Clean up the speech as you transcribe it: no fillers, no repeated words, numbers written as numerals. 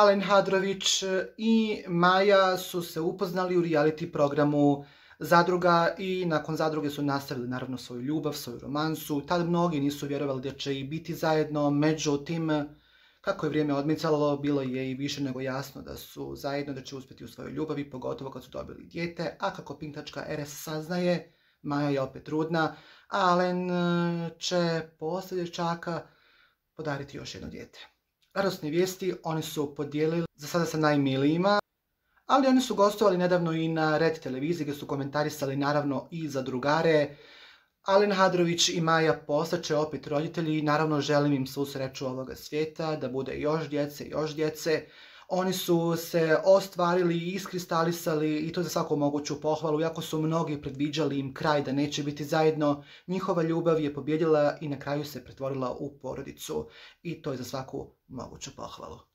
Alen Hadrović i Maja su se upoznali u reality programu Zadruga i nakon Zadruge su nastavili naravno svoju ljubav, svoju romansu. Tad mnogi nisu vjerovali da će i biti zajedno, međutim, kako je vrijeme odmicalo, bilo je i više nego jasno da su zajedno, da će uspjeti u svojoj ljubavi, pogotovo kad su dobili dijete, a kako Pink.rs saznaje, Maja je opet trudna, a Alen će poslije dječaka podariti još jedno dijete. Radosne vijesti oni su podijelili za sada sa najmilijima, ali oni su gostovali nedavno i na Red televiziji gdje su komentarisali naravno i za drugare. Alen Hadrović i Maja postaće opet roditelji i naravno želim im svu sreću ovoga svijeta, da bude još djece. Oni su se ostvarili i iskristalisali i to za svaku moguću pohvalu, iako su mnogi predviđali im kraj da neće biti zajedno, njihova ljubav je pobjedila i na kraju se pretvorila u porodicu i to je za svaku moguću pohvalu.